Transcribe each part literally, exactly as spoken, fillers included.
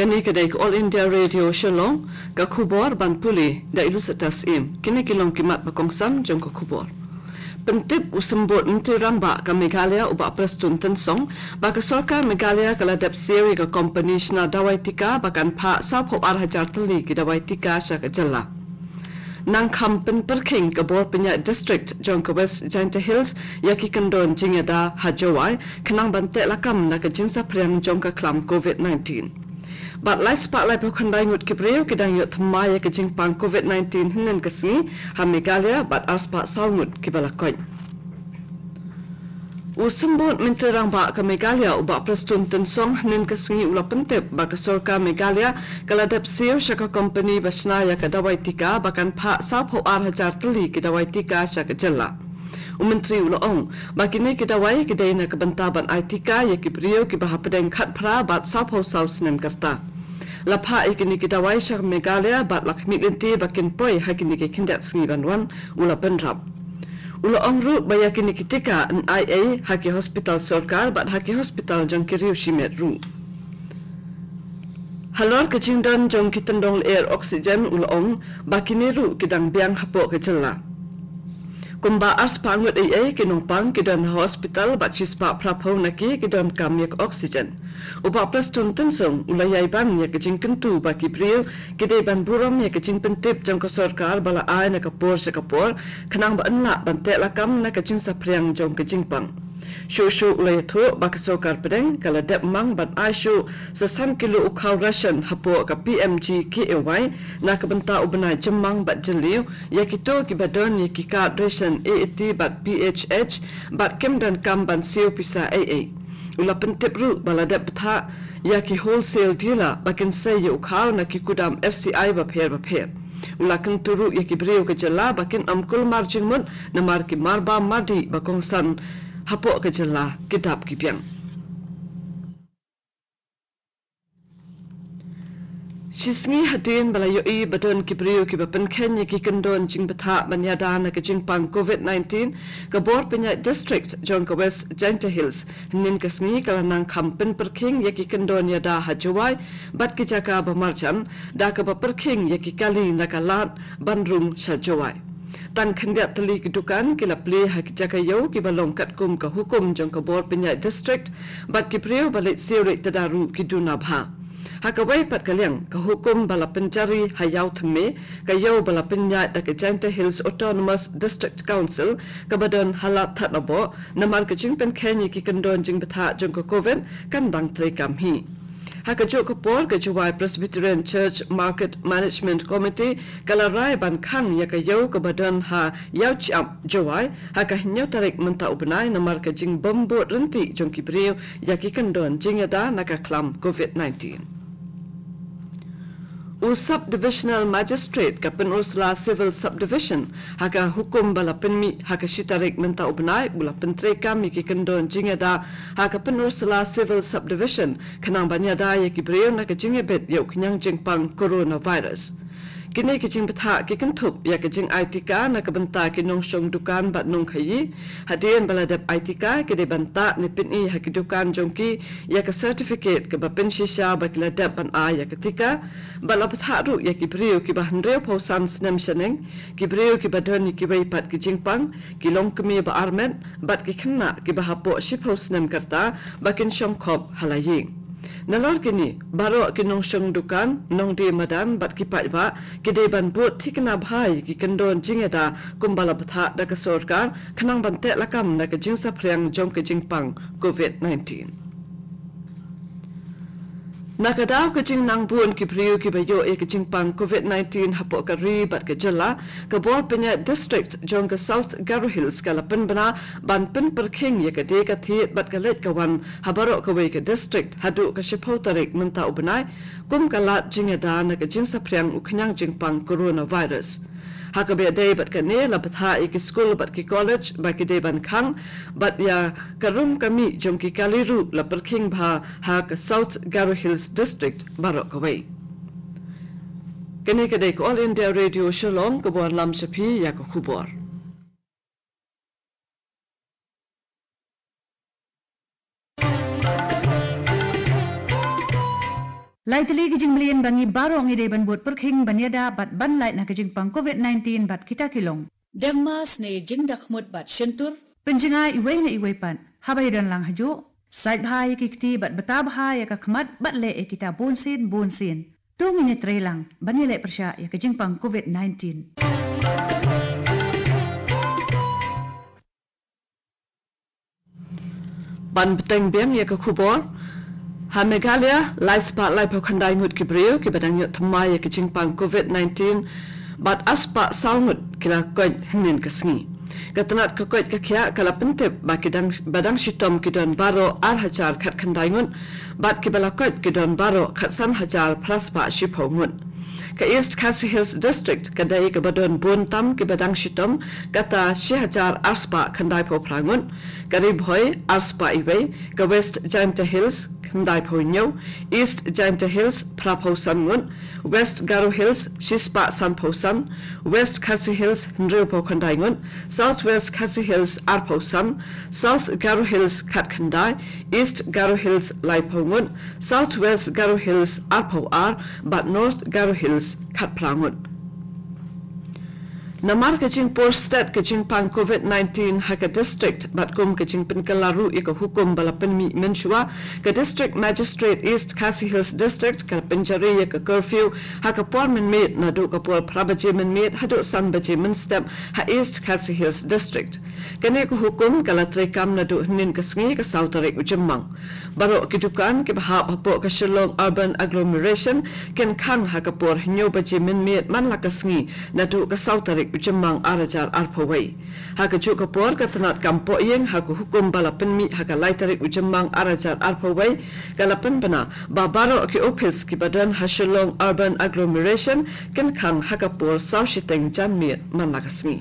Kane ka dei ka All India Radio Shillong, ka khubor ban pule da i Lucetta Syiem. Kine ki long ki mat ba kongsan jong ka khubor. Pyntip u Symbud Myntri Rangbah ka Meghalaya u Bah Prestone Tynsong ba ka sorkar Meghalaya ka la dep siew ïa ka kompani shna dawai tika ba kan phah sawphew ar hajar tylli ki dawai tika sha ka jylla. Nang kham pynpyrkhing ka bor pynïaid district jong ka West Jaintia Hills ïa ki kyndon jingïada ha Jowai khnang ban teh lakam na ka jingsaphriang jong ka khlam covid nineteen. Bad lai spah laiphew khyndai ngut ki briew ki dang ïoh thymmai ïa ka jingpang covid nineteen hynnin ka sngi ha Meghalaya bad ar spah saw ngut kiba la koit. U Symbud Myntri Rangbah ka Meghalaya u Bah Prestone Tynsong hynnin ka sngi u la pyntip ba ka sorkar Meghalaya ka la dep siew sha ka kompani ba shna ïa ka dawai tika ba kan phah sawphew ar hajar tylli ki dawai tika sha ka jylla. U Myntri u la ong ba kine ki dawai ki dei na ka bynta ban ai tika ïa ki briew kiba hapdeng khatphra bad sawphew saw snem ka rta. La phah ïa kine ki dawai sha Meghalaya bad la khmih lynti ba kin poi ha kine ki khyndiat sngi ban wan, u la bynrap. U la ong ruh ba ïa kine ki tika yn ai ei ha ki hospital sorkar bad ha ki hospital jong ki riew shimet ruh. Halor ka jingdon jong ki tyndong lyer oxygen u la ong ba kine ruh ki dang biang hapoh ka jylla. Kumba ar spah ngut ei ei ki nongpang ki don ha hospital bad shi spah phraphew na ki ki donkam ïa ka oxygen. U Bah Prestone Tynsong u la ïai ban ïa ka jingkyntu ba ki briew ki dei ban burom ïa ka jingpyntip jong ka sorkar ba la ai na ka por sha ka por khnang ba yn lah ban teh lakam na ka jingsaphriang jong ka jingpang. Shuh shuh u la ïathuh ba ka sorkar pdeng ka la dep mang ban ai shuh sa san kilo u khaw ration hapoh ka P M G K A Y na ka bynta u bnai Jymmang bad Jylliew ïa kito kiba don ïa ki card ration A A T bad P H H bad kim donkam ban siew pisa ei ei. U la pyntip ruh ba la dep bthah ïa ki wholesale dealer ba kin sei ïa u khaw na ki kudam F C I bapher bapher. U la kyntu ruh ïa ki briew ka jylla ba kin ym kulmar jingmut namar ki marbam mardih ba kongsan hapoh ka jylla ki dap ki biang. Shisngi hadien ba la ïohi ba don ki briew kiba pynkheiñ ïa ki kyndon jingbthah ban ïada na ka jingpang covid nineteen, ka bor pynïaid district jong ka West Jaintia Hills hynnin ka sngi ka la nang kham pynpyrkhing ïa ki kyndon ïada ha Jowai bad ki jaka ba marjan da kaba pyrkhing ïa ki kali na ka lad ban rung sha Jowai. Tang khyndiat tylli ki dukan ki la plie ha ki jaka ïew kiba long katkum ka hukum jong ka bor pynïaid district bad ki briew ba leit siew leit tda ruh ki duna bha. Ha kawei pat ka liang ka hukum ba la pynjari ha Ïaw Thymme, ka ïew ba la pynïaid da ka Jaintia Hills Autonomous District Council kaba don ha Lad Thadlaboh namar ka jingpynkheiñ ïa ki kyndon jingbthah jong ka covid kan dang treikam hi. Ha kajuh ka por ka Jowai Presbyterian Church Market Management Committee ka la rai ban khang ïa ka ïew kaba don ha Ïaw Chiap Jowai ha ka hynñiew tarik mynta u bnai namar ka jingbym bud ryntih jong ki briew ïa ki kyndon jingïada na ka khlam covid nineteen. U Sub Divisional Magistrate ka Pynursla Civil Subdivision ha ka hukum ba la pynmih ha ka shi tarik mynta u bnai u la pyntreikam ïa ki kyndon jingïada ha ka Pynursla Civil Subdivision khnang ban ïada ïa ki briew na ka jingïabit ïa u khñiang jingpang coronavirus. Kine ki jingbthah ki kynthup ïa ka jingai tika na ka bynta ki nongshong dukan bad nongkhaïi. Hadien ba la dep ai tika ki dei ban tah ne pyni ha ki dukan jong ki ïa ka certificate kaba pynshisha ba ki la dep ban ai ïa ka tika. Bad la bthah ruh ïa ki briew kiba hynriewphew san snem shaneng, ki briew kiba don ïa kiwei pat ki jingpang, ki longkmie ba armet bad ki khynnah kiba hapoh shiphew snem ka rta ba kin shong khop ha la ïing. Nalor kine, baroh ki nongshong dukan, nongdie madan bad ki paidbah ki dei ban bud thikna bha ïa ki kyndon jingïada kumba la bthah da ka sorkar khnang ban teh lakam na ka jingsaphriang jong ka jingpang covid nineteen. Na ka daw ka jingnang bun ki briew kiba ïoh ïa ka jingpang covid nineteen hapoh ka ri bad ka jylla, ka bor pynïaid district jong ka South Garo Hills ka la pynbna ban pynpyrkhing ïa ka die ka thied bad ka leit ka wan ha baroh kawei ka district haduh ka shiphew tarik mynta u bnai kum ka lad jingïada na ka jingsaphriang u khñiang jingpang coronavirus. Ha kaba ïadei bad kane la bthah ïa ki skul bad ki college ba ki dei ban khang bad ïa ka rum ka mih jong ki kali ruh la pyrkhing bha ha ka South Garo Hills District baroh kawei. Kane ka dei ka All India Radio Shillong kaba wanlam sha phi ïa ka khubor. Lai tylli ki jingmlien ba ngi baroh ngi dei ban bud pyrkhing ban ïada bad ban lait na ka jingpang covid nineteen bad kita ki long: deng mask ne jingdakhmut bad shyntur, pynjngai iwei na iwei pat haba ïadon lang hajuh, sait bha ïa ki kti bad bata bha ïa ka khmat bad leh ïa kita bunsien bunsien. To ngin ïatreilang ban ïaleh pyrshah ïa ka jingpang covid nineteen. Ban bteng biang ïa ka khubor, ha Meghalaya lai spah laiphew khyndai ngut ki briew kiba dang ïoh thymmai ïa ka jingpang covid nineteen bad ar spah saw ngut ki la koit hynnin ka sngi. Ka tnat ka koit ka khiah ka la pyntip ba ki dang, ba dang shitom ki don baroh ar hajar khatkhyndai ngut bad kiba la koit ki don baroh khatsan hajar phra spah shiphew ngut. Ka East Khasi Hills District ka dei kaba don bun tam kiba dang shitom, kata shi hajar ar spah khyndaiphew phra ngut, ka Ri Bhoi ar spah iwei, ka West Jaintia Hills khyndaiphew hynñiew, East Jaintia Hills phraphew san ngut, West Garo Hills shi spah sanphew san, West Khasi Hills hynriewphew khyndai ngut, South West Khasi Hills arphew san, South Garo Hills khatkhyndai, East Garo Hills laiphew ngut, South West Garo Hills arphew ar bad North Garo Hills khatphra ngut. Namar ka jingpur stet ka jingpang covid nineteen ha ka district bad kum ka jingpynkylla ruh ïa ka hukum ba la pynmih mynshuwa, ka District Magistrate East Khasi Hills District ka la pynjari ïa ka curfew ha ka por mynmiet naduh ka por phra baje mynmiet haduh san baje mynstep ha East Khasi Hills District. Kane ka hukum ka la treikam naduh hynnin ka sngi ka saw tarik u Jymmang. Baroh ki dukan kiba hap hapoh ka Shillong Urban Agglomeration kin khang ha ka por hynñiew baje mynmiet man la ka sngi naduh ka saw tarik u Jymmang ar hajar arphew wei. Ha kajuh ka por ka tnat kam poh ïing ha ka hukum ba la pynmih ha ka lai tarik u Jymmang ar hajar arphew wei ka la pynbna ba baroh ki ophis kiba don ha Shillong Urban Agglomeration kin khang ha ka por saw shiteng janmiet man la ka sngi.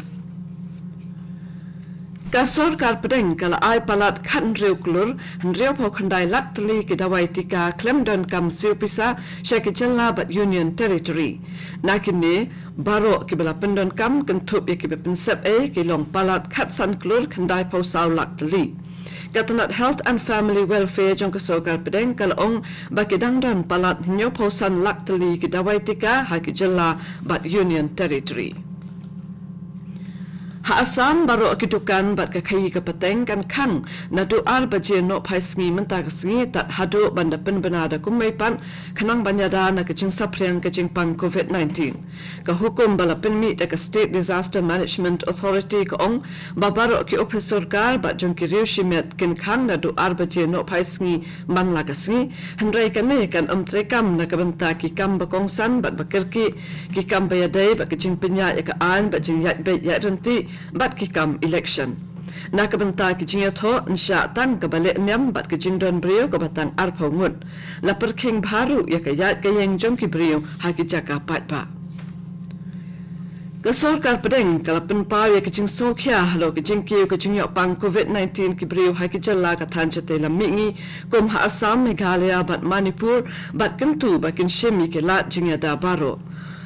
Ka sorkar pdeng ka la ai palat khathynriew klur hynriewphew khyndai lak tylli ki dawai tika khlem donkam siew pisa sha ki jylla bad Union Territory. Na kine baroh kiba la pyndonkam kynthup ïa kiba pynsep ei ki long palat khatsan klur khyndaiphew saw lak tylli. Ka tnat Health and Family Welfare jong ka sorkar pdeng ka la ong ba ki dang don palat hynñiewphew san lak tylli ki dawai tika ha ki jylla bad Union Territory. Ha Assam baroh ki dukan bad ka khaïi ka pateng kan khang naduh ar baje nohphai sngi mynta ka sngi tad haduh ban da pynbna da kum mei pat khnang ban ïada na ka jingsaphriang ka jingpang covid nineteen. Ka hukum ba la pynmih da ka State Disaster Management Authority ka ong ba baroh ki ophis sorkar bad jong ki riew shimet kin khang naduh ar baje nohphai sngi man la ka sngi, hynrei kane kan ym treikam na ka bynta ki kam ba kongsan bad ba kyrkieh, ki kam ba ïadei bad ka jingpynïaid ïa ka aiñ bad jingïaid beit ïaid ryntih bad ki kam election. Na ka bynta ki jingïathoh, nshah tang kaba leh niam bad ka jingdon briew kaba tang arphew ngut. La pyrkhing bha ruh ïa ka ïaid ka ïeng jong ki briew ha ki jaka paidbah. Ka sorkar pdeng ka la pynpaw ïa ka jingsngewkhia halor ka jingkiew ka jingïohpang covid nineteen ki briew ha ki jylla ka thaiñ shatei lam mihngi kum ha Assam, Meghalaya bad Manipur, bad kyntu ba kin shim ïa ki lad jingïada baroh.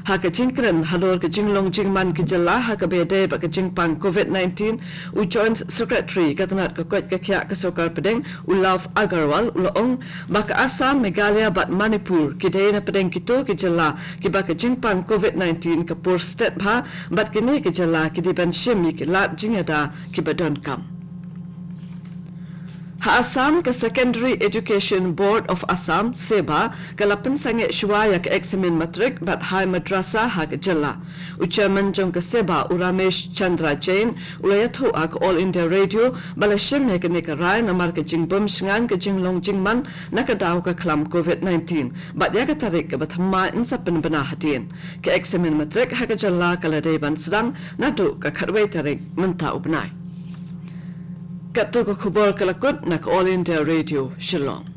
Ha ka jingkren halor ka jinglong jingman ki jylla ha kaba ïadei bad ka jingpang covid nineteen, u Joint Secretary ka tnat ka koit ka khiah ka sorkar pdeng, u Love Agarwal, u la ong ba ka Assam, Meghalaya bad Manipur ki dei na pdeng kito ki jylla kiba ka jingpang covid nineteen ka pur stet bha bad kine ki jylla ki dei ban shim ïa ki lad jingïada kiba donkam. Ha Assam, ka Secondary Education Board of Assam, SEBA, ka la pynsangeh shuwa ïa ka eksamin matrik bad high madrasa ha ka jylla. U chairman jong ka SEBA, u Ramesh Chandra Jain, u la ïathuh ha ka All India Radio ba la shim ïa kane ka rai namar ka jingbym shngaiñ ka jinglong jingman na ka daw ka khlam covid nineteen bad ïa ka tarik kaba thymmai yn sa pynbna hadien. Ka eksamin matrik ha ka jylla ka la dei ban sdang naduh ka khatwei tarik mynta u bnai. Katto ka khubor ka la kut na ka All India Radio Shillong.